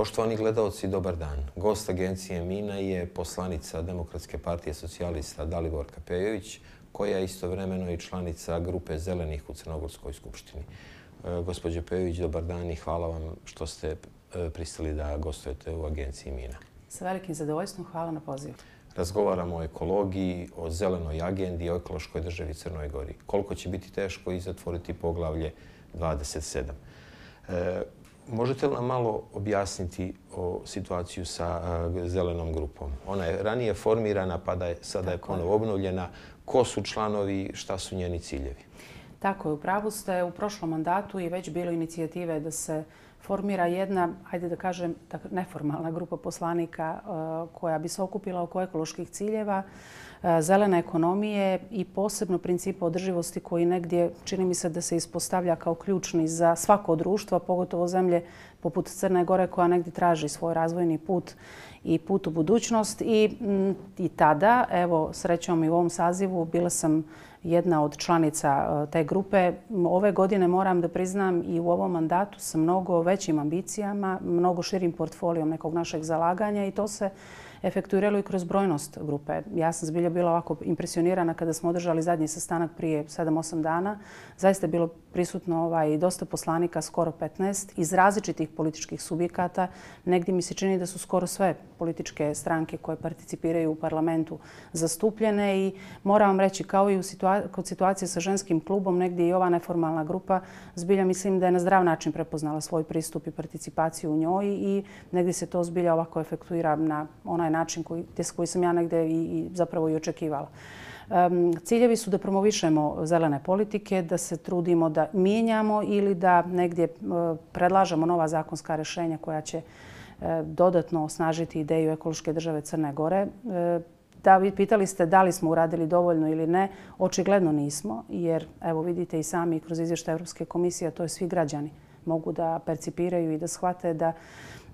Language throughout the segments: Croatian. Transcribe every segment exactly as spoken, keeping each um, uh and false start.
Poštovani gledalci, dobar dan. Gost agencije Mina je poslanica Demokratske partije socijalista Daliborka Pejović, koja je istovremeno i članica grupe Zelenih u Crnogorskoj skupštini. Gospođo Pejović, dobar dan i hvala vam što ste pristali da gostujete u agenciji Mina. Sa velikim zadovoljstvom, hvala na pozivu. Razgovaramo o ekologiji, o zelenoj agendi, o ekološkoj državi Crnoj Gori. Koliko će biti teško i zatvoriti poglavlje dvadeset sedam. E, možete li nam malo objasniti o situaciju sa a, zelenom grupom? Ona je ranije formirana, pa da je, sada je ponovo obnovljena. Ko su članovi, šta su njeni ciljevi? Tako je, u pravu ste. U prošlom mandatu je već bilo inicijative da se formira jedna, ajde da kažem, neformalna grupa poslanika koja bi se okupila oko ekoloških ciljeva, zelene ekonomije i posebno principa održivosti koji negdje čini mi se da se ispostavlja kao ključni za svako društvo, pogotovo zemlje poput Crne Gore koja negdje traži svoj razvojni put i put u budućnost. I, i tada, evo srećom i u ovom sazivu, bila sam jedna od članica te grupe. Ove godine moram da priznam i u ovom mandatu sa mnogo većim ambicijama, mnogo širim portfolijom nekog našeg zalaganja i to se efektuiralo i kroz brojnost grupe. Ja sam zbilja bila ovako impresionirana kada smo održali zadnji sastanak prije sedam osam dana. Zaista je bilo prisutno ovaj, dosta poslanika, skoro petnaest, iz različitih političkih subjekata. Negdje mi se čini da su skoro sve političke stranke koje participiraju u parlamentu zastupljene i moram vam reći, kao i u situa- kod situacije sa ženskim klubom, negdje i ova neformalna grupa zbilja mislim da je na zdrav način prepoznala svoj pristup i participaciju u njoj i negdje se to zbilja ovako efektuira na onaj način koji, koji sam ja negdje i, i zapravo i očekivala. Um, ciljevi su da promovišemo zelene politike, da se trudimo da mijenjamo ili da negdje uh, predlažemo nova zakonska rješenja koja će uh, dodatno osnažiti ideju ekološke države Crne Gore. Uh, da, vi pitali ste da li smo uradili dovoljno ili ne. Očigledno nismo, jer evo vidite i sami kroz izvještaj Europske komisije, to je svi građani mogu da percipiraju i da shvate da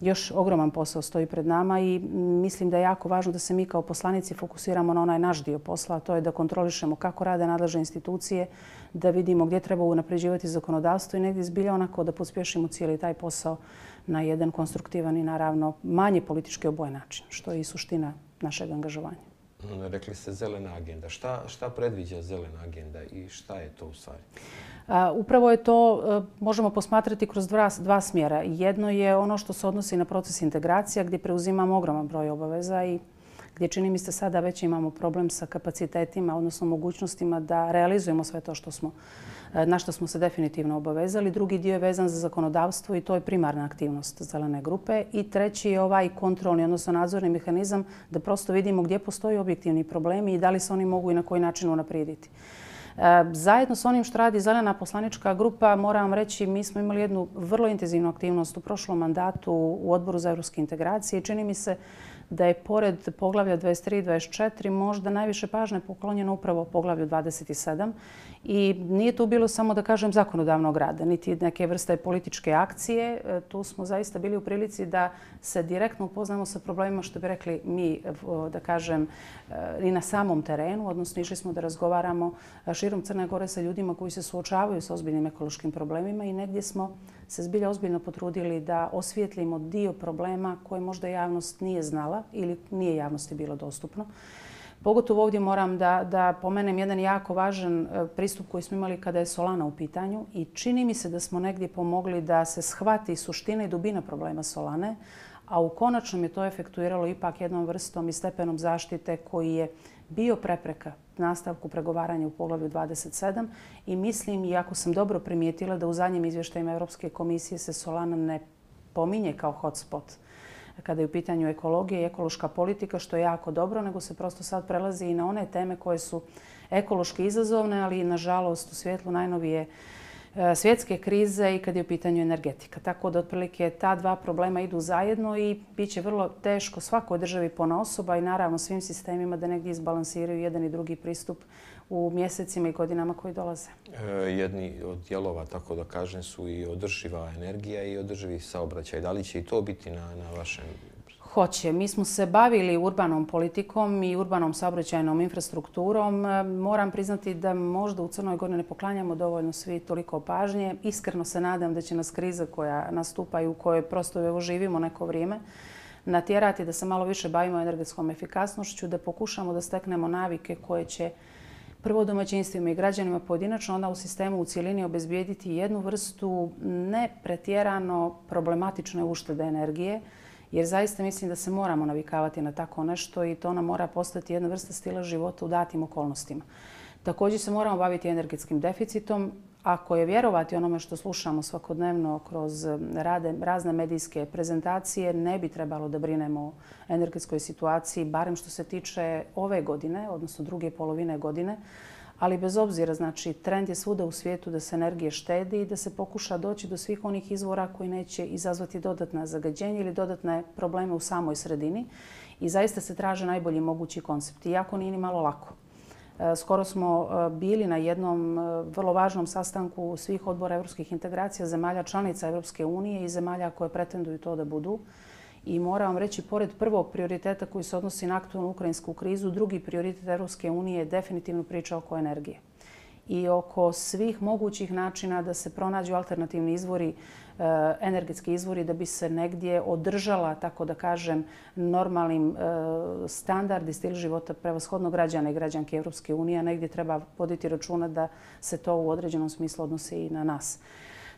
još ogroman posao stoji pred nama i mislim da je jako važno da se mi kao poslanici fokusiramo na onaj naš dio posla, a to je da kontrolišemo kako rade nadležne institucije, da vidimo gdje treba unapređivati zakonodavstvo i negdje zbilja onako da pospješimo cijeli taj posao na jedan konstruktivan i naravno manje politički obojen način, što je i suština našeg angažovanja. Rekli ste zelena agenda. Šta, šta predviđa zelena agenda i šta je to u stvari? Upravo je to, možemo posmatrati kroz dva, dva smjera. Jedno je ono što se odnosi na proces integracija gdje preuzimamo ogroman broj obaveza i gdje čini mi se sada već imamo problem sa kapacitetima, odnosno mogućnostima da realizujemo sve to što smo, na što smo se definitivno obavezali. Drugi dio je vezan za zakonodavstvo i to je primarna aktivnost zelene grupe. I treći je ovaj kontrolni, odnosno nadzorni mehanizam da prosto vidimo gdje postoji objektivni problemi i da li se oni mogu i na koji način unaprijediti. Zajedno s onim što radi zelena poslanička grupa, moram vam reći, mi smo imali jednu vrlo intenzivnu aktivnost u prošlom mandatu u Odboru za evropske integracije. Čini mi se da je pored poglavlja dvadeset tri i dvadeset četiri možda najviše pažnje poklonjeno upravo poglavlju dvadeset sedam. I nije tu bilo samo, da kažem, zakonodavnog rada, niti neke vrste političke akcije. Tu smo zaista bili u prilici da se direktno upoznamo sa problemima, što bi rekli mi, da kažem, i na samom terenu. Odnosno, išli smo da razgovaramo širom Crne Gore sa ljudima koji se suočavaju sa ozbiljnim ekološkim problemima i negdje smo se zbilja ozbiljno potrudili da osvijetlimo dio problema koje možda javnost nije znala ili nije javnosti bilo dostupno. Pogotovo ovdje moram da, da pomenem jedan jako važan pristup koji smo imali kada je Solana u pitanju i čini mi se da smo negdje pomogli da se shvati suština i dubina problema Solane, a u konačnom je to efektuiralo ipak jednom vrstom i stepenom zaštite koji je bio prepreka nastavku pregovaranja u poglavlju dvadeset sedam i mislim, iako sam dobro primijetila da u zadnjim izvještajima Europske komisije se Solana ne pominje kao hotspot kada je u pitanju ekologija i ekološka politika, što je jako dobro, nego se prosto sad prelazi i na one teme koje su ekološki izazovne, ali nažalost u svjetlu najnovije svjetske krize i kad je u pitanju energetika. Tako da otprilike ta dva problema idu zajedno i bit će vrlo teško svakoj državi ponaosob i naravno svim sistemima da negdje izbalansiraju jedan i drugi pristup u mjesecima i godinama koji dolaze. E, jedni od dijelova, tako da kažem, su i održiva energija i održivi saobraćaj. Da li će i to biti na, na vašem Hoće. Mi smo se bavili urbanom politikom i urbanom saobraćajnom infrastrukturom. Moram priznati da možda u Crnoj Gori ne poklanjamo dovoljno svi toliko pažnje. Iskreno se nadam da će nas kriza koja nastupa i u kojoj prosto evo živimo neko vrijeme natjerati da se malo više bavimo energetskom efikasnošću, da pokušamo da steknemo navike koje će prvo domaćinstvima i građanima pojedinačno, onda u sistemu u cjelini obezbijediti jednu vrstu ne pretjerano problematične uštede energije, jer zaista mislim da se moramo navikavati na tako nešto i to nam mora postati jedna vrsta stila života u datim okolnostima. Također se moramo baviti energetskim deficitom. Ako je vjerovati onome što slušamo svakodnevno kroz rade, razne medijske prezentacije, ne bi trebalo da brinemo o energetskoj situaciji, barem što se tiče ove godine, odnosno druge polovine godine. Ali bez obzira, znači, trend je svuda u svijetu da se energije štedi i da se pokuša doći do svih onih izvora koji neće izazvati dodatna zagađenja ili dodatne probleme u samoj sredini. I zaista se traže najbolji mogući koncepti, iako nije ni malo lako. Skoro smo bili na jednom vrlo važnom sastanku svih odbora evropskih integracija zemalja članica Evropske unije i zemalja koje pretenduju to da budu. I moram vam reći, pored prvog prioriteta koji se odnosi na aktualnu ukrajinsku krizu, drugi prioritet Evropske unije je definitivno priča oko energije. I oko svih mogućih načina da se pronađu alternativni izvori, energetski izvori, da bi se negdje održala, tako da kažem, normalnim standard i stil života prevashodno građana i građanke Evropske unije, a negdje treba voditi računa da se to u određenom smislu odnosi i na nas.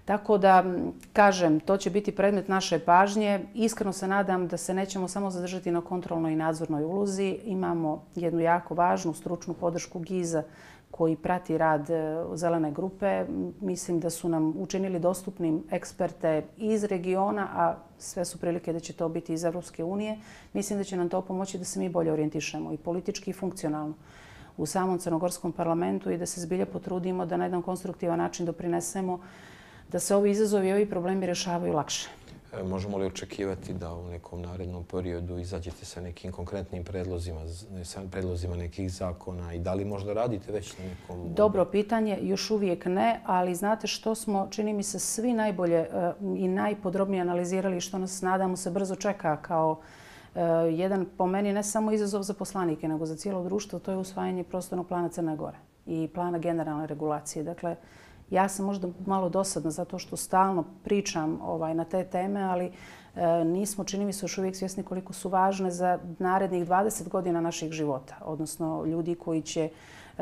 Tako da, kažem, to će biti predmet naše pažnje. Iskreno se nadam da se nećemo samo zadržati na kontrolnoj i nadzornoj ulozi. Imamo jednu jako važnu stručnu podršku GIZ-a koji prati rad zelene grupe. Mislim da su nam učinili dostupnim eksperte iz regiona, a sve su prilike da će to biti iz Evropske unije. Mislim da će nam to pomoći da se mi bolje orijentišemo i politički i funkcionalno u samom crnogorskom parlamentu i da se zbilja potrudimo da na jedan konstruktivan način doprinesemo da se ovi izazovi i ovi problemi rješavaju lakše. Možemo li očekivati da u nekom narednom periodu izađete sa nekim konkretnim predlozima, sa predlozima nekih zakona i da li možda radite već na nekom... Dobro pitanje, još uvijek ne, ali znate što smo, čini mi se, svi najbolje i najpodrobnije analizirali što nas, nadamo se, brzo čeka kao jedan, po meni, ne samo izazov za poslanike, nego za cijelo društvo, to je usvajanje prostornog plana Crne Gore i plana generalne regulacije. Dakle, ja sam možda malo dosadna zato što stalno pričam ovaj, na te teme, ali e, nismo, čini mi se, još uvijek svjesni koliko su važne za narednih dvadeset godina naših života. Odnosno ljudi koji će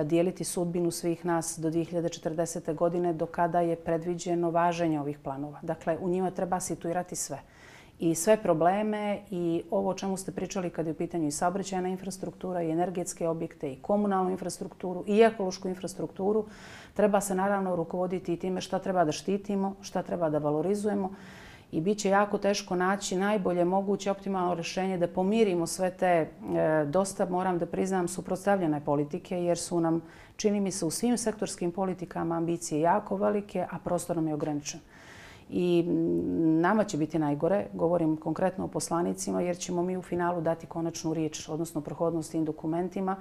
dijeliti sudbinu svih nas do dvije hiljade četrdesete. godine do kada je predviđeno važenje ovih planova. Dakle, u njima treba situirati sve. I sve probleme i ovo o čemu ste pričali kad je u pitanju i saobraćajna infrastruktura i energetske objekte i komunalnu infrastrukturu i ekološku infrastrukturu, treba se naravno rukovoditi i time šta treba da štitimo, šta treba da valorizujemo i bit će jako teško naći najbolje moguće optimalno rješenje da pomirimo sve te e, dosta, moram da priznam, suprotstavljene politike jer su nam, čini mi se, u svim sektorskim politikama ambicije jako velike, a prostor nam je ograničen. I nama će biti najgore, govorim konkretno o poslanicima, jer ćemo mi u finalu dati konačnu riječ, odnosno prohodnost tim dokumentima.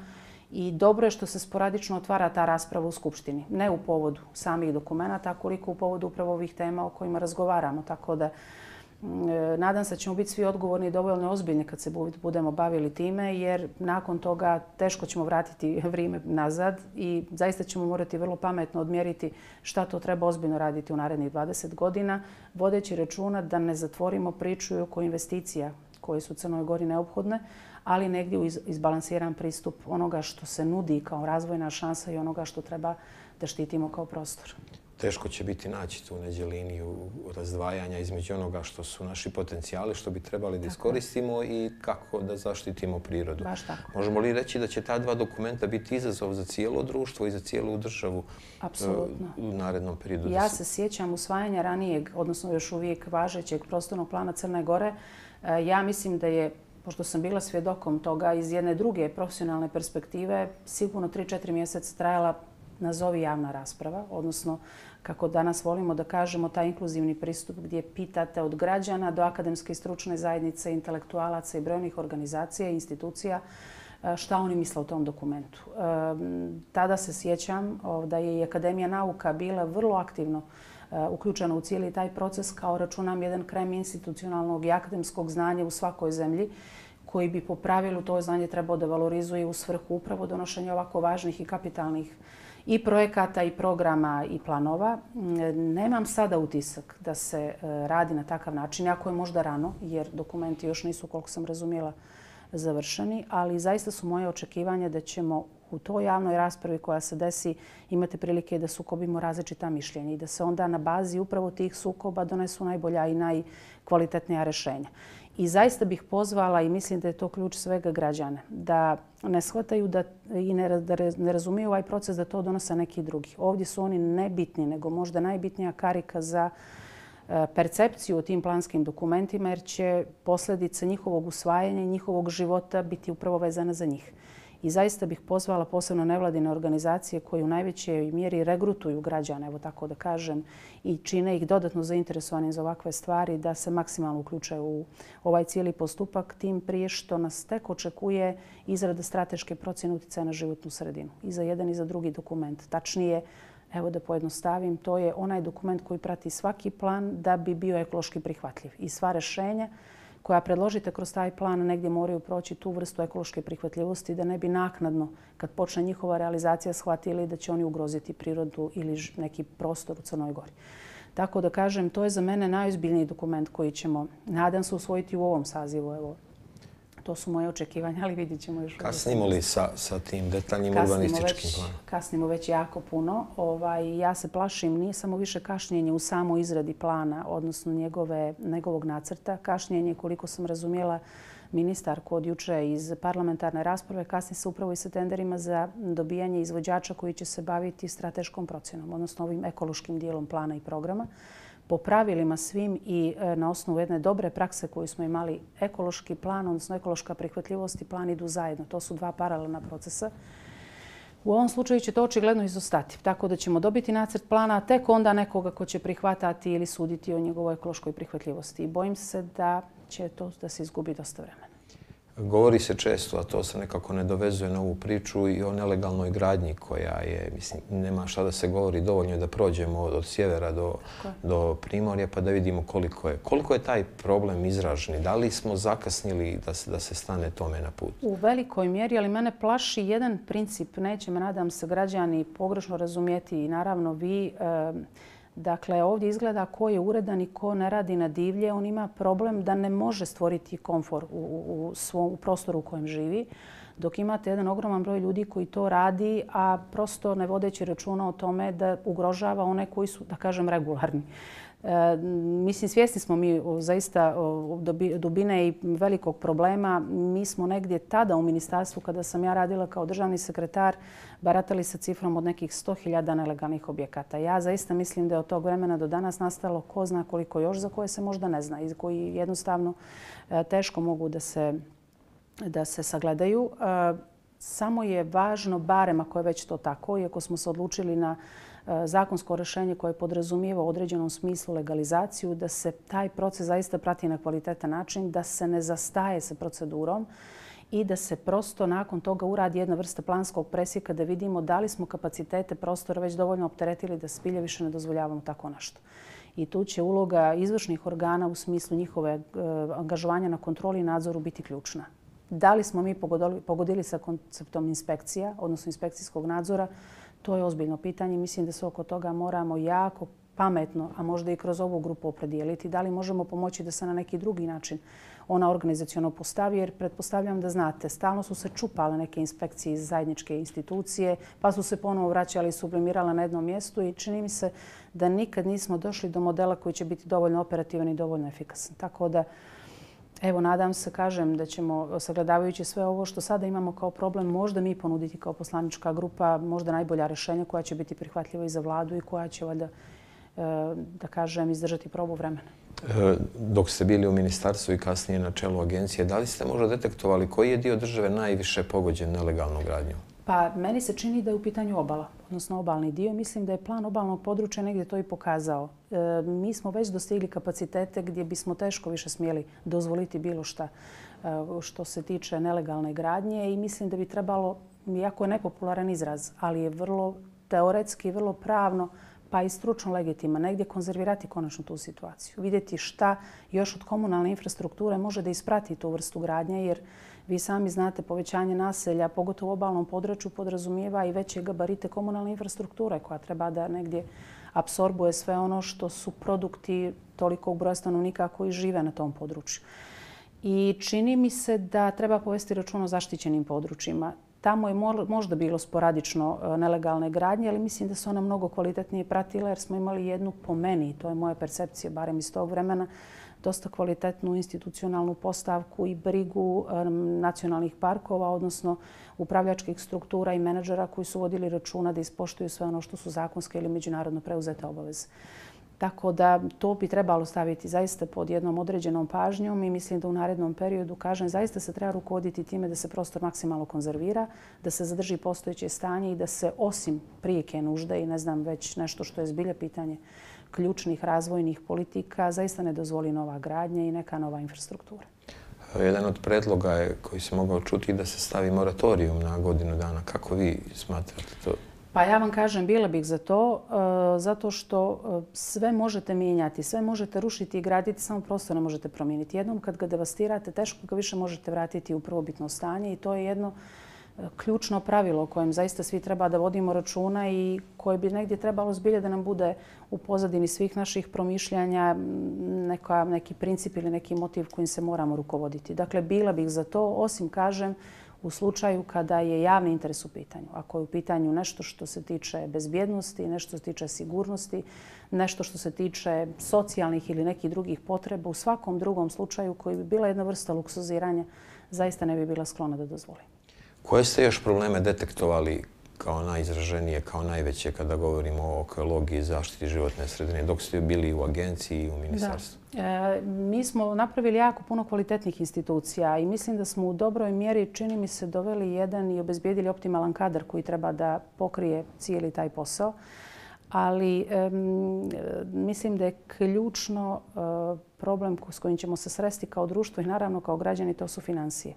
I dobro je što se sporadično otvara ta rasprava u Skupštini. Ne u povodu samih dokumenta, koliko u povodu upravo ovih tema o kojima razgovaramo. Tako da nadam se da ćemo biti svi odgovorni i dovoljno ozbiljni kad se budemo bavili time, jer nakon toga teško ćemo vratiti vrijeme nazad i zaista ćemo morati vrlo pametno odmjeriti šta to treba ozbiljno raditi u narednih dvadeset godina, vodeći računa da ne zatvorimo priču oko investicija koje su Crnoj Gori neophodne, ali negdje u izbalansiran pristup onoga što se nudi kao razvojna šansa i onoga što treba da štitimo kao prostor. Teško će biti naći tu neđe liniju razdvajanja između onoga što su naši potencijali, što bi trebali da iskoristimo i kako da zaštitimo prirodu. Baš tako. Možemo li reći da će ta dva dokumenta biti izazov za cijelo društvo i za cijelu državu Apsolutno. u narednom periodu? Ja se sjećam usvajanja ranijeg, odnosno još uvijek važećeg prostornog plana Crne Gore. Ja mislim da je, pošto sam bila svjedokom toga iz jedne druge profesionalne perspektive, sigurno tri četiri mjeseca trajala nazovi javna rasprava, odnosno kako danas volimo da kažemo taj inkluzivni pristup gdje pitate od građana do akademske i stručne zajednice, intelektualaca i brojnih organizacija i institucija šta oni misle o tom dokumentu. Tada se sjećam da je i Akademija nauka bila vrlo aktivno uključena u cijeli taj proces, kao računam jedan krem institucionalnog i akademskog znanja u svakoj zemlji koji bi po pravilu to znanje trebao da valorizuje u svrhu upravo donošenja ovako važnih i kapitalnih i projekata i programa i planova. Nemam sada utisak da se radi na takav način, jako je možda rano, jer dokumenti još nisu, koliko sam razumjela, završeni, ali zaista su moje očekivanja da ćemo u toj javnoj raspravi koja se desi imati prilike da sukobimo različita mišljenja i da se onda na bazi upravo tih sukoba donesu najbolja i najkvalitetnija rješenja. I zaista bih pozvala, i mislim da je to ključ svega, građane, da ne shvataju da, i ne, da ne razumiju ovaj proces da to donose neki drugi. Ovdje su oni nebitni, nego možda najbitnija karika za percepciju o tim planskim dokumentima, jer će posljedice njihovog usvajanja i njihovog života biti upravo vezane za njih. I zaista bih pozvala posebno nevladine organizacije koje u najvećoj mjeri regrutuju građane, evo tako da kažem, i čine ih dodatno zainteresovanim za ovakve stvari, da se maksimalno uključe u ovaj cijeli postupak, tim prije što nas tek očekuje izrada strateške procjene utjecaja na životnu sredinu. I za jedan i za drugi dokument. Tačnije, evo da pojednostavim, to je onaj dokument koji prati svaki plan da bi bio ekološki prihvatljiv. I sva rješenja koja predložite kroz taj plan negdje moraju proći tu vrstu ekološke prihvatljivosti da ne bi naknadno, kad počne njihova realizacija, shvatili da će oni ugroziti prirodu ili neki prostor u Crnoj Gori. Tako da kažem, to je za mene najozbiljniji dokument koji ćemo, nadam se, usvojiti u ovom sazivu. Evo, to su moje očekivanja, ali vidjet ćemo još. Kasnimo li sa, sa tim detaljnim urbanističkim planom? Kasnimo već jako puno. Ovaj, ja se plašim, nije samo više kašnjenje u samoj izradi plana, odnosno njegove, njegovog nacrta. Kašnjenje, koliko sam razumjela ministarku od juče iz parlamentarne rasprave, kasni se upravo i sa tenderima za dobijanje izvođača koji će se baviti strateškom procjenom, odnosno ovim ekološkim dijelom plana i programa. Po pravilima svim i na osnovu jedne dobre prakse koju smo imali, ekološki plan, odnosno ekološka prihvatljivost i plan idu zajedno. To su dva paralelna procesa. U ovom slučaju će to očigledno izostati, tako da ćemo dobiti nacrt plana, a tek onda nekoga ko će prihvatati ili suditi o njegovoj ekološkoj prihvatljivosti. I bojim se da će to da se izgubi dosta vremena. Govori se često, a to se nekako ne dovezuje na ovu priču, i o nelegalnoj gradnji koja je, mislim, nema šta da se govori, dovoljno je da prođemo od, od sjevera do, do Primorja pa da vidimo koliko je. Koliko je taj problem izražen? Da li smo zakasnili da se, da se stane tome na put? U velikoj mjeri, ali mene plaši jedan princip. Neće me, nadam se, građani pogrešno razumjeti i naravno vi. E, Dakle, ovdje izgleda ko je uredan i ko ne radi na divlje. On ima problem da ne može stvoriti komfor u, u, svom, u prostoru u kojem živi. Dok imate jedan ogroman broj ljudi koji to radi, a prosto ne vodeći računa o tome da ugrožava one koji su, da kažem, regularni. E, mislim, svjesni smo mi zaista dubine i velikog problema. Mi smo negdje tada u ministarstvu, kada sam ja radila kao državni sekretar, baratali sa cifrom od nekih sto hiljada nelegalnih objekata. Ja zaista mislim da je od tog vremena do danas nastalo ko zna koliko još, za koje se možda ne zna i koji jednostavno teško mogu da se, da se sagledaju. Samo je važno, barem ako je već to tako, iako smo se odlučili na zakonsko rješenje koje podrazumijeva u određenom smislu legalizaciju, da se taj proces zaista prati na kvalitetan način, da se ne zastaje sa procedurom i da se prosto nakon toga uradi jedna vrsta planskog presjeka da vidimo da li smo kapacitete prostora već dovoljno opteretili da spilje više ne dozvoljavamo tako nešto. I tu će uloga izvršnih organa u smislu njihove angažovanja na kontroli i nadzoru biti ključna. Da li smo mi pogodili, pogodili sa konceptom inspekcija, odnosno inspekcijskog nadzora, to je ozbiljno pitanje. Mislim da se oko toga moramo jako pametno, a možda i kroz ovu grupu opredijeliti. Da li možemo pomoći da se na neki drugi način ona organizaciono postavi, jer pretpostavljam da znate, stalno su se čupale neke inspekcije iz zajedničke institucije, pa su se ponovo vraćali i sublimirale na jednom mjestu i čini mi se da nikad nismo došli do modela koji će biti dovoljno operativan i dovoljno efikasan. Tako da, evo, nadam se, kažem, da ćemo, sagledavajući sve ovo što sada imamo kao problem, možda mi ponuditi kao poslanička grupa možda najbolja rješenja koja će biti prihvatljiva i za vladu i koja će, valjda, da kažem, izdržati probu vremena. Dok ste bili u ministarstvu i kasnije na čelu agencije, da li ste možda detektovali koji je dio države najviše pogođen nelegalnom gradnjom? Pa meni se čini da je u pitanju obala, odnosno obalni dio. Mislim da je plan obalnog područja negdje to i pokazao. E, mi smo već dostigli kapacitete gdje bismo teško više smjeli dozvoliti bilo šta e, što se tiče nelegalne gradnje i mislim da bi trebalo, jako je nepopularan izraz, ali je vrlo teoretski, vrlo pravno pa i stručno legitima, negdje konzervirati konačno tu situaciju. Vidjeti šta još od komunalne infrastrukture može da isprati tu vrstu gradnje, jer vi sami znate povećanje naselja, pogotovo u obalnom području, podrazumijeva i veće gabarite komunalne infrastrukture koja treba da negdje apsorbuje sve ono što su produkti tolikog broja stanovnika koji žive na tom području. I čini mi se da treba povesti račun o zaštićenim područjima. Tamo je možda bilo sporadično nelegalne gradnje, ali mislim da se ona mnogo kvalitetnije pratila jer smo imali jednu, po meni, to je moja percepcija, barem iz tog vremena, dosta kvalitetnu institucionalnu postavku i brigu nacionalnih parkova, odnosno upravljačkih struktura i menadžera koji su vodili računa da ispoštuju sve ono što su zakonske ili međunarodno preuzete obaveze. Tako da to bi trebalo staviti zaista pod jednom određenom pažnjom i mislim da u narednom periodu, kažem, zaista se treba rukovoditi time da se prostor maksimalno konzervira, da se zadrži postojeće stanje i da se osim prijeke nužde i ne znam već nešto što je zbilja pitanje ključnih razvojnih politika, zaista ne dozvoli nova gradnja i neka nova infrastruktura. Jedan od predloga je koji se mogao čuti da se stavi moratorijum na godinu dana. Kako vi smatrate to? Pa ja vam kažem, bila bih za to, zato što sve možete mijenjati, sve možete rušiti i graditi, samo prostor ne možete promijeniti. Jednom kad ga devastirate, teško ga više možete vratiti u prvobitno stanje i to je jedno ključno pravilo o kojem zaista svi treba da vodimo računa i koje bi negdje trebalo zbilje da nam bude u pozadini svih naših promišljanja neka, neki princip ili neki motiv kojim se moramo rukovoditi. Dakle, bila bih za to, osim, kažem, u slučaju kada je javni interes u pitanju. Ako je u pitanju nešto što se tiče bezbjednosti, nešto što se tiče sigurnosti, nešto što se tiče socijalnih ili nekih drugih potreba, u svakom drugom slučaju koji bi bila jedna vrsta luksuziranja, zaista ne bi bila sklona da dozvoli. Koje ste još probleme detektovali kao najizraženije, kao najveće kada govorimo o ekologiji i zaštiti životne sredine, dok ste bili u agenciji i u ministarstvu? Da. E, mi smo napravili jako puno kvalitetnih institucija i mislim da smo u dobroj mjeri, čini mi se, doveli jedan i obezbijedili optimalan kadar koji treba da pokrije cijeli taj posao. Ali e, mislim da je ključno e, problem s kojim ćemo se sresti kao društvo i naravno kao građani, to su financije.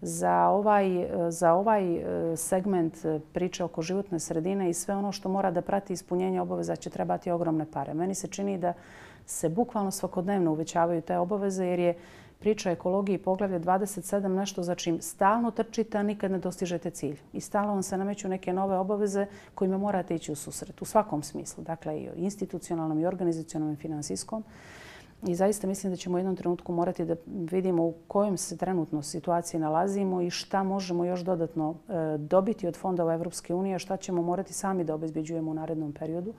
Za ovaj, za ovaj segment priče oko životne sredine i sve ono što mora da prati ispunjenje obaveza će trebati ogromne pare. Meni se čini da se bukvalno svakodnevno uvećavaju te obaveze jer je priča ekologiji poglavlje dvadeset sedam nešto za čim stalno trčite, a nikad ne dostižete cilj. I stalno vam se nameću neke nove obaveze kojima morate ići u susret u svakom smislu. Dakle, i institucionalnom, i organizacionalnom, i finansijskom. I zaista mislim da ćemo u jednom trenutku morati da vidimo u kojem se trenutno situaciji nalazimo i šta možemo još dodatno dobiti od fondova Evropske unije, a šta ćemo morati sami da obezbeđujemo u narednom periodu.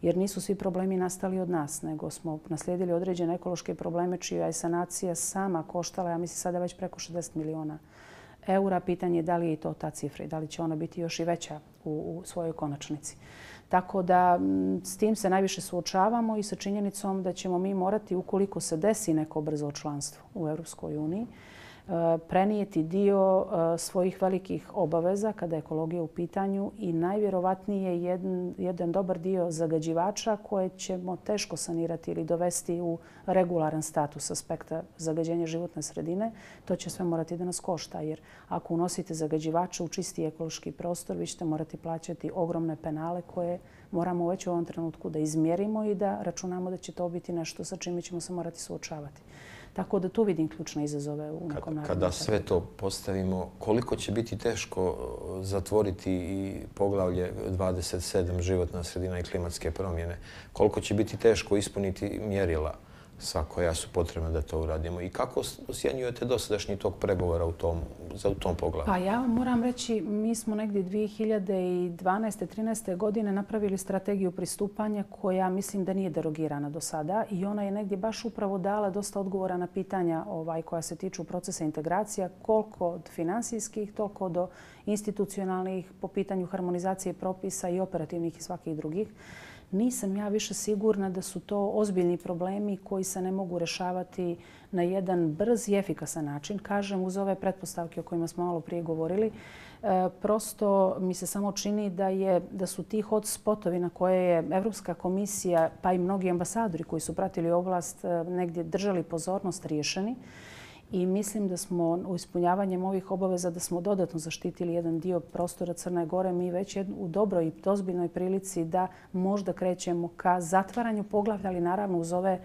Jer nisu svi problemi nastali od nas, nego smo naslijedili određene ekološke probleme čija je sanacija sama koštala, ja mislim sada već preko šezdeset miliona eura. Pitanje je da li je i to ta cifra i da li će ona biti još i veća u, u svojoj konačnici. Tako da s tim se najviše suočavamo i sa činjenicom da ćemo mi morati, ukoliko se desi neko brzo članstvo u Europskoj uniji, prenijeti dio svojih velikih obaveza kada je ekologija u pitanju i najvjerovatnije jedan, jedan dobar dio zagađivača koje ćemo teško sanirati ili dovesti u regularan status aspekta zagađenja životne sredine. To će sve morati da nas košta jer ako unosite zagađivače u čisti ekološki prostor, vi ćete morati plaćati ogromne penale koje moramo već u ovom trenutku da izmjerimo i da računamo da će to biti nešto sa čime ćemo se morati suočavati. Tako da tu vidim ključne izazove u nekom narednom. Kada sve to postavimo, koliko će biti teško zatvoriti i poglavlje dvadeset sedam životna sredina i klimatske promjene? Koliko će biti teško ispuniti mjerila sva koja su potrebna da to uradimo? I kako ocjenjujete dosadašnji tok pregovora u tom, za u tom poglavlju? Pa ja moram reći, mi smo negdje dvije hiljade dvanaeste trinaeste godine napravili strategiju pristupanja koja mislim da nije derogirana do sada i ona je negdje baš upravo dala dosta odgovora na pitanja ovaj, koja se tiču procesa integracija, koliko od finansijskih, toliko do institucionalnih po pitanju harmonizacije propisa i operativnih i svakih drugih. Nisam ja više sigurna da su to ozbiljni problemi koji se ne mogu rješavati na jedan brz i efikasan način. Kažem, uz ove pretpostavke o kojima smo malo prije govorili, prosto mi se samo čini da, je, da su ti hotspotovi na koje je Evropska komisija pa i mnogi ambasadori koji su pratili oblast negdje držali pozornost riješeni. i mislim da smo u ispunjavanjem ovih obaveza da smo dodatno zaštitili jedan dio prostora Crne Gore. Mi već u dobroj i ozbiljnoj prilici da možda krećemo ka zatvaranju poglavlja, ali naravno uz ove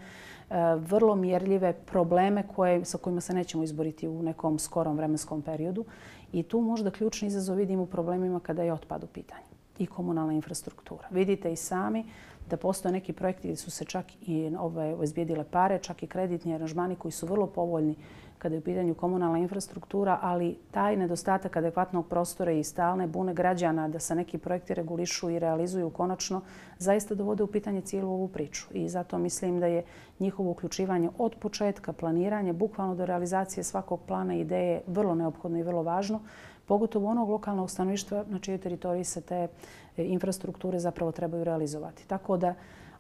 vrlo mjerljive probleme koje, sa kojima se nećemo izboriti u nekom skorom vremenskom periodu. I tu možda ključni izazov vidim u problemima kada je otpad u pitanju i komunalna infrastruktura. Vidite i sami da postoje neki projekti gdje su se čak i obezbijedile pare, čak i kreditni aranžmani koji su vrlo povoljni kada je u pitanju komunalna infrastruktura, ali taj nedostatak adekvatnog prostora i stalne bune građana da se neki projekti regulišu i realizuju konačno zaista dovode u pitanje cijelu ovu priču. I zato mislim da je njihovo uključivanje od početka, planiranje, bukvalno do realizacije svakog plana i ideje vrlo neophodno i vrlo važno, pogotovo onog lokalnog stanovništva na čijoj teritoriji se te infrastrukture zapravo trebaju realizovati. Tako da,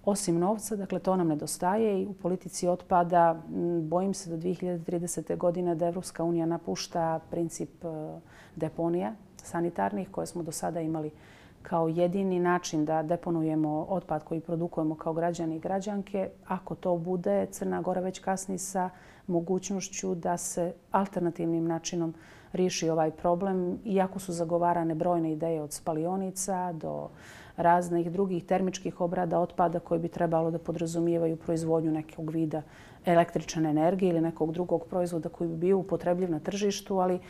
osim novca, dakle, to nam nedostaje i u politici otpada bojim se do dvije hiljade tridesete. godine da Evropska unija napušta princip deponija sanitarnih koje smo do sada imali kao jedini način da deponujemo otpad koji produkujemo kao građani i građanke. Ako to bude, Crna Gora već kasni sa mogućnošću da se alternativnim načinom riješi ovaj problem, iako su zagovarane brojne ideje od spalionica do raznih drugih termičkih obrada otpada koji bi trebalo da podrazumijevaju proizvodnju nekog vida električne energije ili nekog drugog proizvoda koji bi bio upotrebljiv na tržištu, ali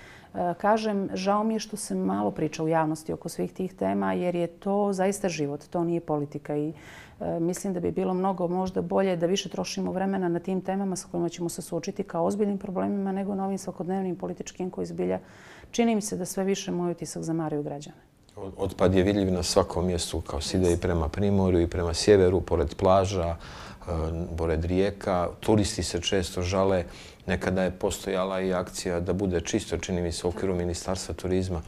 kažem, žao mi je što se malo priča u javnosti oko svih tih tema jer je to zaista život, to nije politika i mislim da bi bilo mnogo možda bolje da više trošimo vremena na tim temama sa kojima ćemo se suočiti kao ozbiljnim problemima nego na ovim svakodnevnim političkim koji zbilja čini mi se da sve više moj utisak zamaraju građane. Otpad je vidljiv na svakom mjestu, kao se ide i prema primorju i prema sjeveru, pored plaža, pored rijeka. Turisti se često žale. Nekada je postojala i akcija da bude čisto, čini mi se, u okviru Ministarstva turizma.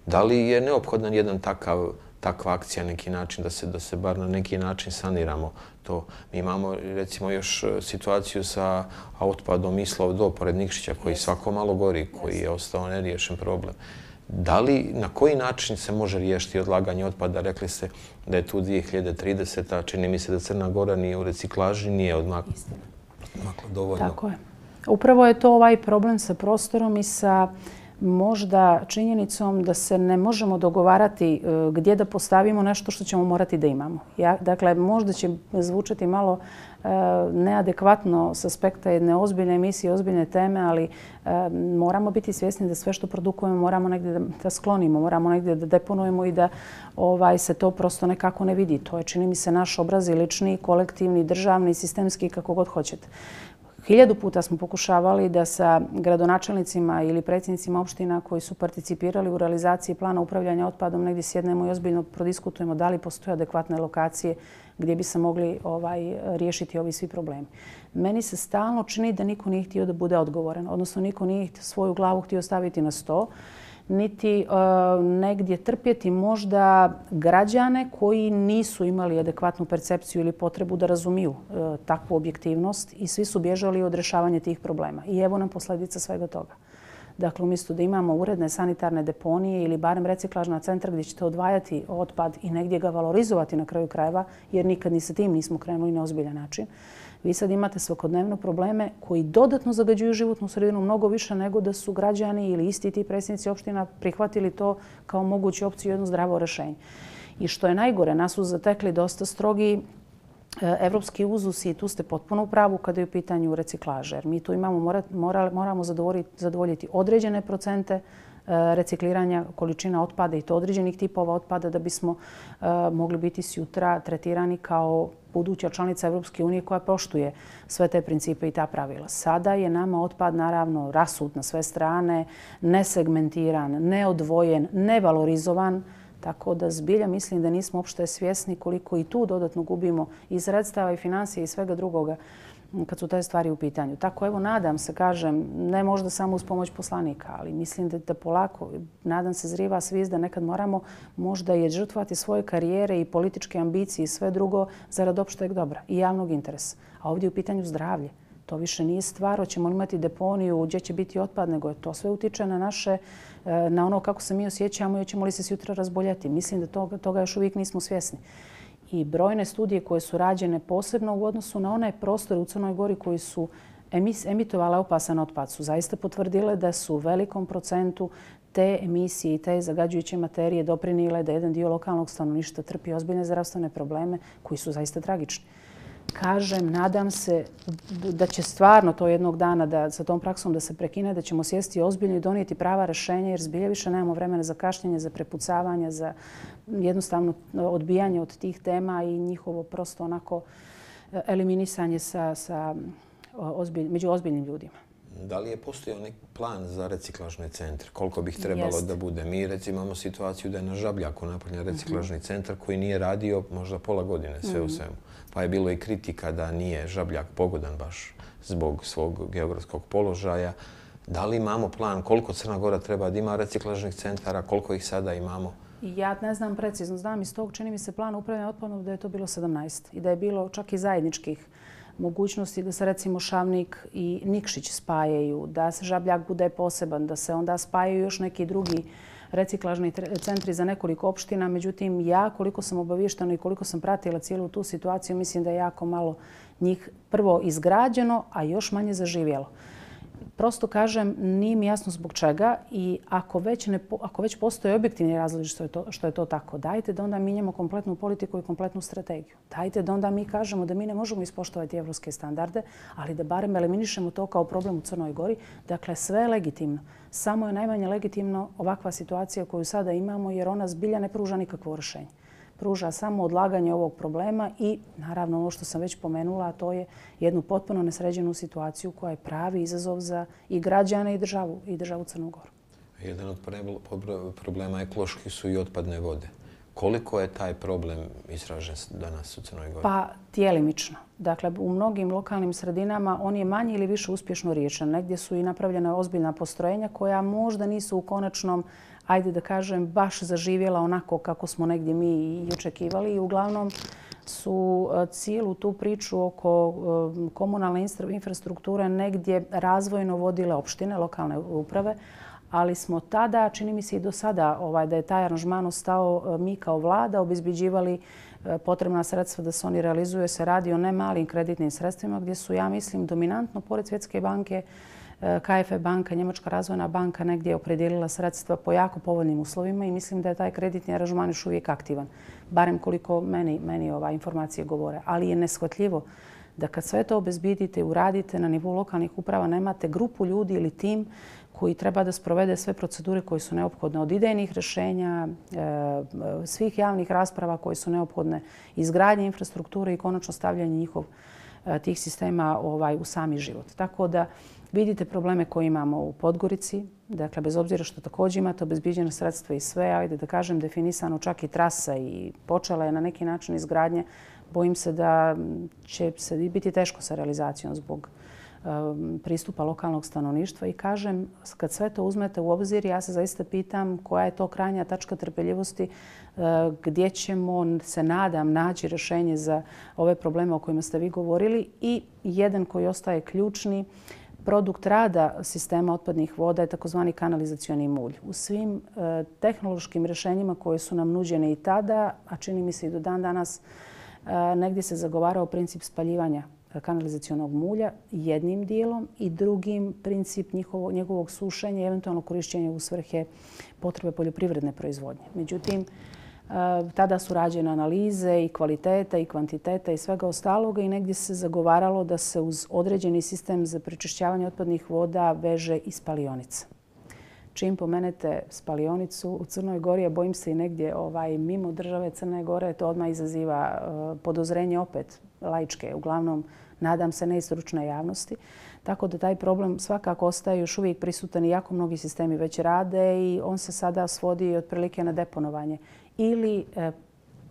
Da li je neophodan jedan takav, takva akcija, neki način, da se, da se bar na neki način saniramo to? Mi imamo, recimo, još situaciju sa otpadom Islov do pored Nikšića, koji svako malo gori, koji je ostao neriješen problem. Da li, na koji način se može riješiti odlaganje otpada? Rekli ste da je tu dvije hiljade tridesete. Čini mi se da Crna Gora nije u reciklaži, nije odmakla dovoljno. Tako je. Upravo je to ovaj problem sa prostorom i sa možda činjenicom da se ne možemo dogovarati gdje da postavimo nešto što ćemo morati da imamo. Ja, dakle, možda će zvučati malo e, neadekvatno s aspekta jedne ozbiljne emisije, ozbiljne teme, ali e, moramo biti svjesni da sve što produkujemo moramo negdje da, da sklonimo, moramo negdje da deponujemo i da ovaj, se to prosto nekako ne vidi. To je, čini mi se, naš obraz i lični, kolektivni, državni, sistemski, kako god hoćete. Hiljadu puta smo pokušavali da sa gradonačelnicima ili predsjednicima opština koji su participirali u realizaciji plana upravljanja otpadom negdje sjednemo i ozbiljno prodiskutujemo da li postoje adekvatne lokacije gdje bi se mogli ovaj, riješiti ovi svi problemi. Meni se stalno čini da niko nije htio da bude odgovoran, odnosno niko nije svoju glavu htio staviti na sto, niti e, negdje trpjeti možda građane koji nisu imali adekvatnu percepciju ili potrebu da razumiju e, takvu objektivnost i svi su bježali od rješavanja tih problema. I evo nam posljedica svega toga. Dakle, umjesto da imamo uredne sanitarne deponije ili barem reciklažna centra gdje ćete odvajati otpad i negdje ga valorizovati na kraju krajeva, jer nikad ni sa tim nismo krenuli na ozbiljan način, vi sad imate svakodnevno probleme koji dodatno zagađuju životnu sredinu mnogo više nego da su građani ili isti ti predsjednici opština prihvatili to kao moguću opciju, jedno zdravo rješenje. I što je najgore, nas su zatekli dosta strogi evropski uzusi i tu ste potpuno u pravu kada je u pitanju reciklaže. Jer mi tu imamo, mora, mora, moramo zadovoljiti određene procente recikliranja količina otpada i to određenih tipova otpada da bismo uh, mogli biti sutra tretirani kao buduća članica Evropske unije koja poštuje sve te principe i ta pravila. Sada je nama otpad naravno rasut na sve strane, nesegmentiran, neodvojen, nevalorizovan, tako da zbilja mislim da nismo uopšte svjesni koliko i tu dodatno gubimo i sredstava i financije i svega drugoga kad su te stvari u pitanju. Tako evo, nadam se, kažem, ne možda samo uz pomoć poslanika, ali mislim da, da polako, nadam se, zriva svijest da nekad moramo možda i žrtvovati svoje karijere i političke ambicije i sve drugo zarad opšteg dobra i javnog interesa. A ovdje je u pitanju zdravlje. To više nije stvar, hoćemo li imati deponiju, gdje će biti otpad, nego je to sve utiče na naše, na ono kako se mi osjećamo i hoćemo li se sutra razboljeti. Mislim da toga, toga još uvijek nismo svjesni. I brojne studije koje su rađene posebno u odnosu na onaj prostor u Crnoj Gori koji su emitovala opasan otpad su zaista potvrdile da su u velikom procentu te emisije i te zagađujuće materije doprinile da jedan dio lokalnog stanovništva trpi ozbiljne zdravstvene probleme koji su zaista tragični. Kažem, nadam se da će stvarno to jednog dana da sa tom praksom da se prekine, da ćemo sjesti ozbiljno i donijeti prava rješenja jer zbilja više nemamo vremena za kašnjenje, za prepucavanje, za jednostavno odbijanje od tih tema i njihovo prosto onako eliminisanje sa, sa ozbilj, među ozbiljnim ljudima. Da li je postojao neki plan za reciklažne centre? Koliko bi ih trebalo Jest. da bude? Mi recimo imamo situaciju da je na Žabljaku napravljen reciklažni centar koji nije radio možda pola godine sve u svemu. Pa je bilo i kritika da nije Žabljak pogodan baš zbog svog geografskog položaja. Da li imamo plan koliko Crna Gora treba da ima reciklažnih centara, koliko ih sada imamo? Ja ne znam precizno. Znam iz tog, čini mi se, plana upravljanja otpadom da je to bilo sedamnaest i da je bilo čak i zajedničkih mogućnosti da se recimo Šavnik i Nikšić spajaju, da se Žabljak bude poseban, da se onda spajaju još neki drugi reciklažni centri za nekoliko opština. Međutim, ja koliko sam obaviještena i koliko sam pratila cijelu tu situaciju, mislim da je jako malo njih prvo izgrađeno, a još manje zaživjelo. Prosto kažem, nije mi jasno zbog čega i ako već, ne, ako već postoje objektivni razlozi što je, to, što je to tako, dajte da onda mijenjamo kompletnu politiku i kompletnu strategiju. Dajte da onda mi kažemo da mi ne možemo ispoštovati evropske standarde, ali da barem eliminišemo to kao problem u Crnoj Gori. Dakle, sve je legitimno. Samo je najmanje legitimno ovakva situacija koju sada imamo jer ona zbilja ne pruža nikakvo rješenje. Pruža samo odlaganje ovog problema i naravno ono što sam već pomenula, a to je jednu potpuno nesređenu situaciju koja je pravi izazov za i građane i državu, i državu Crnu Goru. Jedan od problema ekološki su i otpadne vode. Koliko je taj problem izražen danas u Crnoj Gori? Pa djelimično. Dakle, u mnogim lokalnim sredinama on je manje ili više uspješno riješen. Negdje su i napravljena ozbiljna postrojenja koja možda nisu u konačnom, ajde da kažem, baš zaživjela onako kako smo negdje mi i očekivali. I uglavnom su cijelu tu priču oko komunalne infrastrukture negdje razvojno vodile opštine, lokalne uprave, ali smo tada, čini mi se i do sada, ovaj, da je taj aranžman ostao, mi kao vlada obezbeđivali potrebna sredstva da se oni realizuje. Se radi o ne malim kreditnim sredstvima gdje su, ja mislim, dominantno, pored Svjetske banke, K F E banka, Njemačka razvojna banka negdje opredijelila sredstva po jako povoljnim uslovima i mislim da je taj kreditni aranžman još uvijek aktivan. Barem koliko meni, meni ova informacije govore. Ali je neshvatljivo da kad sve to obezbedite i uradite na nivou lokalnih uprava, nemate grupu ljudi ili tim koji treba da sprovede sve procedure koje su neophodne od idejnih rješenja, svih javnih rasprava koje su neophodne, izgradnje infrastrukture i konačno stavljanje njihov tih sistema ovaj, u sami život. Tako da vidite probleme koje imamo u Podgorici. Dakle, bez obzira što također imate obezbiđena sredstva i sve, ajde da kažem, definisano čak i trasa i počela je na neki način izgradnje. Bojim se da će se biti teško sa realizacijom zbog pristupa lokalnog stanovništva i kažem, kad sve to uzmete u obzir, ja se zaista pitam koja je to krajnja tačka trpeljivosti gdje ćemo, se nadam, naći rješenje za ove probleme o kojima ste vi govorili i jedan koji ostaje ključni produkt rada sistema otpadnih voda je takozvani kanalizacioni mulj. U svim tehnološkim rješenjima koje su nam nuđene i tada, a čini mi se i do dan danas, negdje se zagovarao princip spaljivanja kanalizacionog mulja jednim dijelom i drugim princip njihovo, njegovog sušenja i eventualno korišćenja u svrhe potrebe poljoprivredne proizvodnje. Međutim, tada su rađene analize i kvaliteta i kvantiteta i svega ostaloga i negdje se zagovaralo da se uz određeni sistem za prečišćavanje otpadnih voda veže i spalionica. Čim pomenete spalionicu u Crnoj Gori, a bojim se i negdje ovaj, mimo države Crne Gore, to odmah izaziva uh, podozrenje opet laičke, uglavnom nadam se ne i stručne javnosti. Tako da taj problem svakako ostaje još uvijek prisutan i jako mnogi sistemi već rade i on se sada svodi otprilike na deponovanje ili,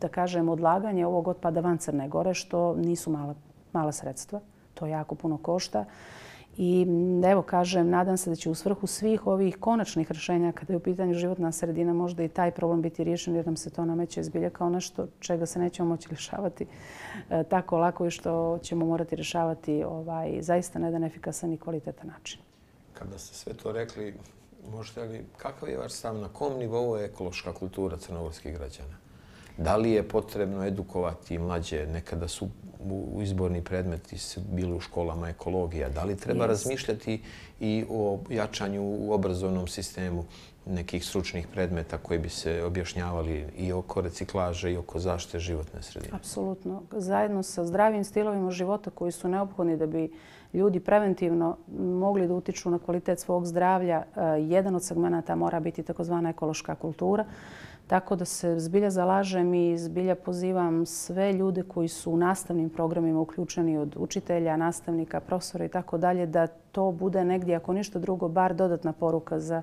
da kažem, odlaganje ovog otpada van Crne Gore, što nisu mala, mala sredstva. To jako puno košta. I evo, kažem, nadam se da će u svrhu svih ovih konačnih rješenja kada je u pitanju životna sredina možda i taj problem biti riješen jer nam se to nameće zbilja kao nešto čega se nećemo moći rješavati e, tako lako i što ćemo morati rješavati ovaj, zaista na jedan efikasan i kvalitetan način. Kada ste sve to rekli, možete li, kakav je vaš stav, na kom nivou je ekološka kultura crnogorskih građana? Da li je potrebno edukovati mlađe? Nekada su u izborni predmeti bili u školama ekologija. Da li treba razmišljati i o jačanju u obrazovnom sistemu nekih stručnih predmeta koji bi se objašnjavali i oko reciklaže i oko zaštite životne sredine? Apsolutno. Zajedno sa zdravim stilovima života koji su neophodni da bi ljudi preventivno mogli da utiču na kvalitet svog zdravlja, jedan od segmenata mora biti takozvana ekološka kultura. Tako da se zbilja zalažem i zbilja pozivam sve ljude koji su u nastavnim programima uključeni od učitelja, nastavnika, profesora i tako dalje, da to bude negdje, ako ništa drugo, bar dodatna poruka za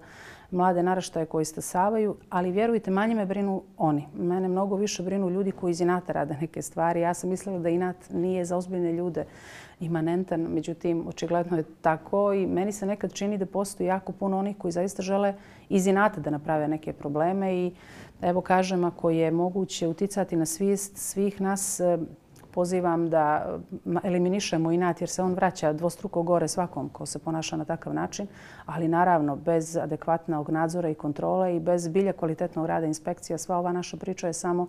mlade naraštaje koji stasavaju. Ali vjerujte, manje me brinu oni. Mene mnogo više brinu ljudi koji iz inata rade neke stvari. Ja sam mislila da inat nije za ozbiljne ljude imanentan, međutim, očigledno je tako i meni se nekad čini da postoji jako puno onih koji zaista žele iz inata da naprave neke probleme i evo kažem, ako je moguće uticati na svijest svih nas, pozivam da eliminišemo inat jer se on vraća dvostruko gore svakom ko se ponaša na takav način, ali naravno bez adekvatnog nadzora i kontrole i bez bilja kvalitetnog rada inspekcija. Sva ova naša priča je samo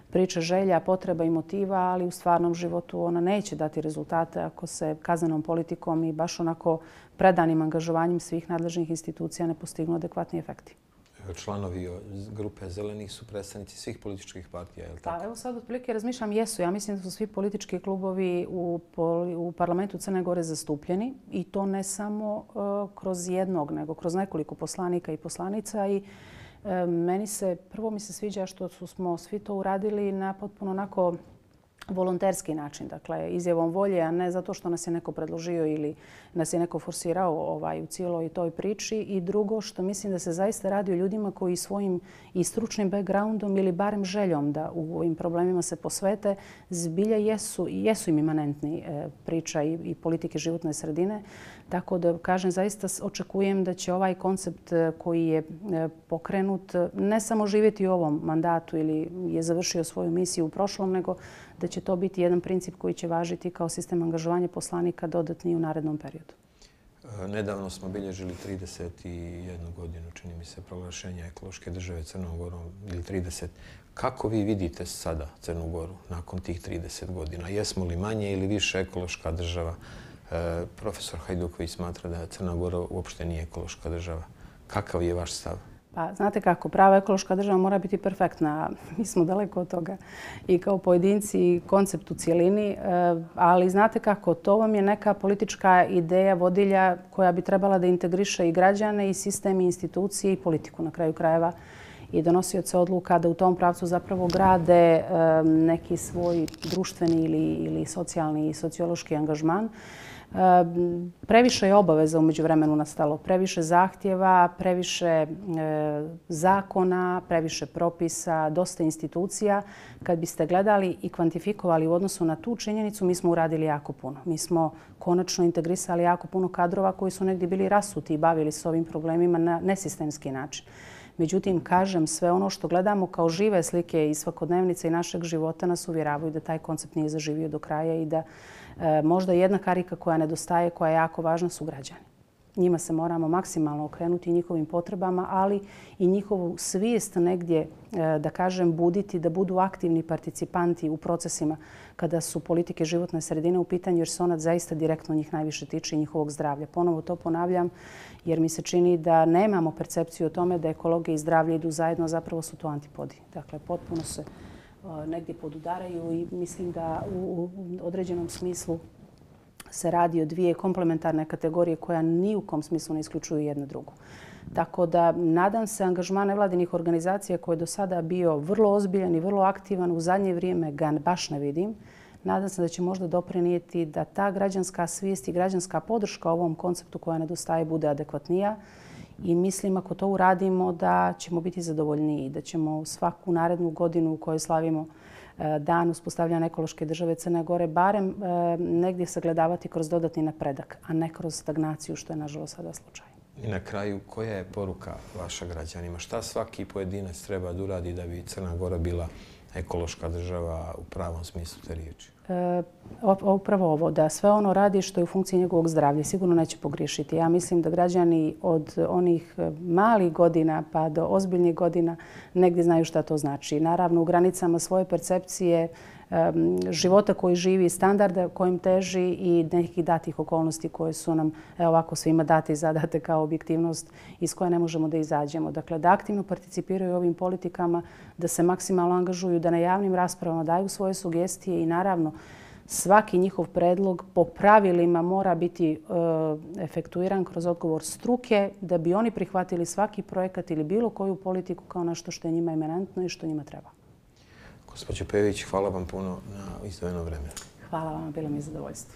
priča želja, potreba i motiva, ali u stvarnom životu ona neće dati rezultate ako se kaznenom politikom i baš onako predanim angažovanjem svih nadležnih institucija ne postignu adekvatni efekti. Članovi grupe Zelenih su predstavnici svih političkih partija, je li tako? Pa evo sad otprilike razmišljam, jesu. Ja mislim da su svi politički klubovi u, u parlamentu Crne Gore zastupljeni i to ne samo uh, kroz jednog, nego kroz nekoliko poslanika i poslanica i uh, meni se, prvo mi se sviđa što su, smo svi to uradili na potpuno onako volonterski način, dakle izjavom volje, a ne zato što nas je neko predložio ili nas je neko forsirao ovaj, u cijeloj toj priči. I drugo, što mislim da se zaista radi o ljudima koji svojim i stručnim backgroundom ili barem željom da u ovim problemima se posvete, zbilja jesu, jesu im imanentni e, priča i, i politike životne sredine. Tako da, kažem, zaista očekujem da će ovaj koncept koji je pokrenut ne samo živjeti u ovom mandatu ili je završio svoju misiju u prošlom, nego da će to biti jedan princip koji će važiti kao sistem angažovanja poslanika dodatni u narednom periodu. Nedavno smo bilježili trideset jednu godinu, čini mi se, proglašenja ekološke države Crnom Gorom ili trideset. Kako vi vidite sada Crnu Goru nakon tih trideset godina? Jesmo li manje ili više ekološka država? E, profesor Hajduković smatra da Crna Gora uopšte nije ekološka država. Kakav je vaš stav? Pa, znate kako, prava ekološka država mora biti perfektna. Mi smo daleko od toga i kao pojedinci i koncept u cijelini. Ali znate kako, to vam je neka politička ideja vodilja koja bi trebala da integriše i građane i sistem i institucije i politiku na kraju krajeva i donosioce odluka da u tom pravcu zapravo grade neki svoj društveni ili, ili socijalni i sociološki angažman. Previše je obaveza umeđu vremenu nastalo, previše zahtjeva, previše e, zakona, previše propisa, dosta institucija. Kad biste gledali i kvantifikovali u odnosu na tu činjenicu, mi smo uradili jako puno. Mi smo konačno integrisali jako puno kadrova koji su negdje bili rasuti i bavili se ovim problemima na nesistemski način. Međutim, kažem, sve ono što gledamo kao žive slike iz svakodnevnice i našeg života nas uvjeravaju da taj koncept nije zaživio do kraja i da e, možda jedna karika koja nedostaje, koja je jako važna, su građani. Njima se moramo maksimalno okrenuti, njihovim potrebama, ali i njihovu svijest negdje, e, da kažem, buditi, da budu aktivni participanti u procesima kada su politike životne sredine u pitanju, jer se ona zaista direktno njih najviše tiče i njihovog zdravlja. Ponovo to ponavljam, jer mi se čini da nemamo percepciju o tome da ekologija i zdravlje idu zajedno, zapravo su to antipodi. Dakle, potpuno se negdje podudaraju i mislim da u određenom smislu se radi o dvije komplementarne kategorije koja ni u kom smislu ne isključuju jedna drugu. Tako da nadam se angažman nevladinih organizacija koji je do sada bio vrlo ozbiljan i vrlo aktivan, u zadnje vrijeme ga baš ne vidim. Nadam se da će možda doprinijeti da ta građanska svijest i građanska podrška ovom konceptu koja nedostaje bude adekvatnija. I mislim ako to uradimo da ćemo biti zadovoljniji, da ćemo svaku narednu godinu u kojoj slavimo dan uspostavljanja ekološke države Crne Gore barem negdje sagledavati kroz dodatni napredak, a ne kroz stagnaciju, što je nažalost sada slučaj. I na kraju, koja je poruka vaša građanima? Šta svaki pojedinac treba da uradi da bi Crna Gora bila ekološka država u pravom smislu te riječi? E, upravo ovo, da sve ono radi što je u funkciji njegovog zdravlja. Sigurno neće pogriješiti. Ja mislim da građani od onih malih godina pa do ozbiljnih godina negdje znaju šta to znači. Naravno, u granicama svoje percepcije života koji živi, standarda kojim teži i nekih datih okolnosti koje su nam evo ovako svima date i zadate kao objektivnost iz koje ne možemo da izađemo. Dakle, da aktivno participiraju ovim politikama, da se maksimalno angažuju, da na javnim raspravama daju svoje sugestije i naravno svaki njihov predlog po pravilima mora biti efektuiran kroz odgovor struke da bi oni prihvatili svaki projekat ili bilo koju politiku kao nešto što je njima eminentno i što njima treba. Gospođo Pević, hvala vam puno na izdvojeno vreme. Hvala vam, bilo mi je zadovoljstvo.